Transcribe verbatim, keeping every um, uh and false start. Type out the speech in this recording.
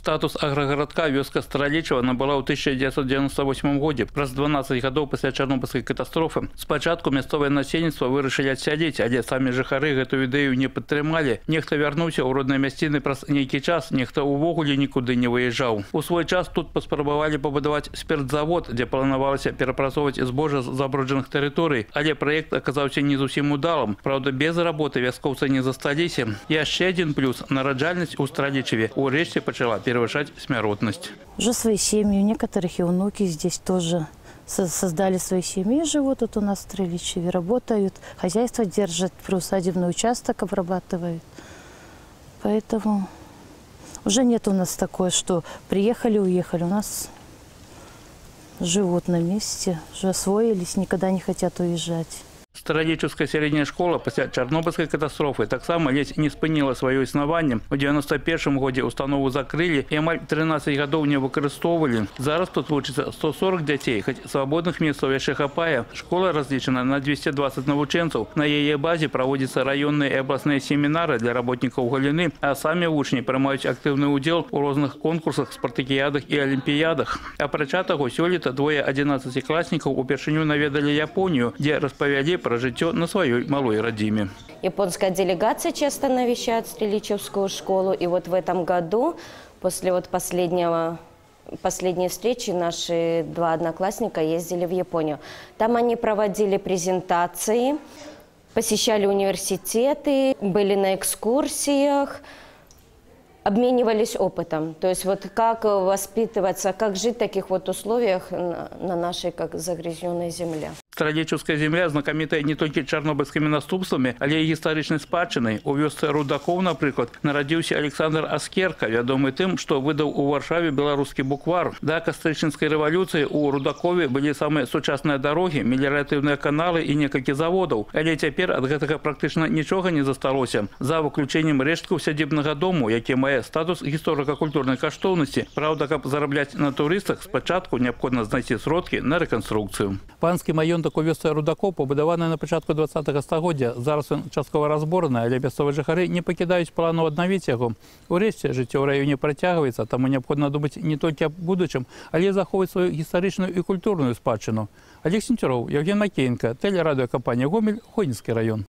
Статус аграгарадка вёска Старалечава набыла ў тысяча девятьсот девяносто восьмом годзе, праз дванаццаць гадоў пасля чарнобыльскай катастрофы. Спачатку мясцовае насельніцтва вырашылі адсядзець, але самі жыхары гэтую ідэю не падтрымалі. Нехта вярнуўся ў родныя мясціны праз нейкі час, нехта ўвогуле нікуды не выязджаў. У свой час тут паспрабавалі пабудаваць спіртзавод, дзе планавалася перапрацоўваць збожжа з забруджаных тэрыторый, але праект аказаўся не зусім удалым. Праўда, без работы вяскоўцы не засталіся. Яшчэ адзін плюс – нараджальнасць у Старалечаве урэшце пачала превышать смяротность. Уже свои семьи, у некоторых и внуки здесь тоже создали свои семьи, живут тут у нас в Старалечаве, работают, хозяйство держат, приусадебный участок обрабатывают. Поэтому уже нет у нас такое, что приехали, уехали. У нас живут на месте, уже освоились, никогда не хотят уезжать. Старалечаўская сярэдняя школа пасля чарнобыльскай катастрофы таксама ледзь не спыніла сваё існаванне. У девяносто першым годзе установу закрылі і амаль трынаццаць гадоў не выкарыстоўвалі. Зараз тут вучыцца сто сорок дзяцей, хоць свабодных месцаў яшчэ хапае. Школа разлічана на двести двадцать навучэнцаў. На яе базе праводзяцца раённыя і абласныя семінары для работнікаў галіны, а самі вучні прымаюць актыўны ўдзел у розных конкурсах, спартакіядах і алімпіядах. Апрача таго, сёлета двое адзінаццацікласнікаў упершыню наведалі Японию, дзе распавялі про жыццё на своей малой родиме. Японская делегация часто навещает Старалечавскую школу. И вот в этом году, после вот последнего, последней встречи, наши два одноклассника ездили в Японию. Там они проводили презентации, посещали университеты, были на экскурсиях, обменивались опытом. То есть вот как воспитываться, как жить в таких вот условиях на нашей как загрязненной земле. Старалечаўская земля знакамітая не толькі чарнобыльскімі наступствамі, але і гістарычнай спадчынай. У вёсцы Рудакоў, напрыклад, нарадзіўся Александр Аскерка, вядомы тым, што выдаў у Варшаве беларускі буквар. Да кастрычніцкай рэвалюцыі у Рудакове былі самыя сучасныя дарогі, меліяратыўныя каналы і некалькі заводаў. Але цяпер ад гэтага практычна нічога не засталося. За выключэннем рэшткаў сядзібнага дому, які мае статус гісторыка-культурнай каштоўнасці. Праўда, каб зарабляць на турыстах, спачатку неабходна знайсці сродкі на рэканструкцыю. Панскі маёнтак у вёсцы Рудакоў пабудаваны на пачатку двадцатага стагоддзя. Зараз ён часткова разбораны, але мясцовыя жыхары не пакідаюць плану аднавіць яго. Урэшце, жыццё ў раёне працягваецца, таму неабходна думаць не толькі аб будучым, але захоўваць сваю гістарычную і культурную спадчыну. Олег Сенцюроў, Евген Макеенко, телерадиокомпания «Гомель», Хойницкий район.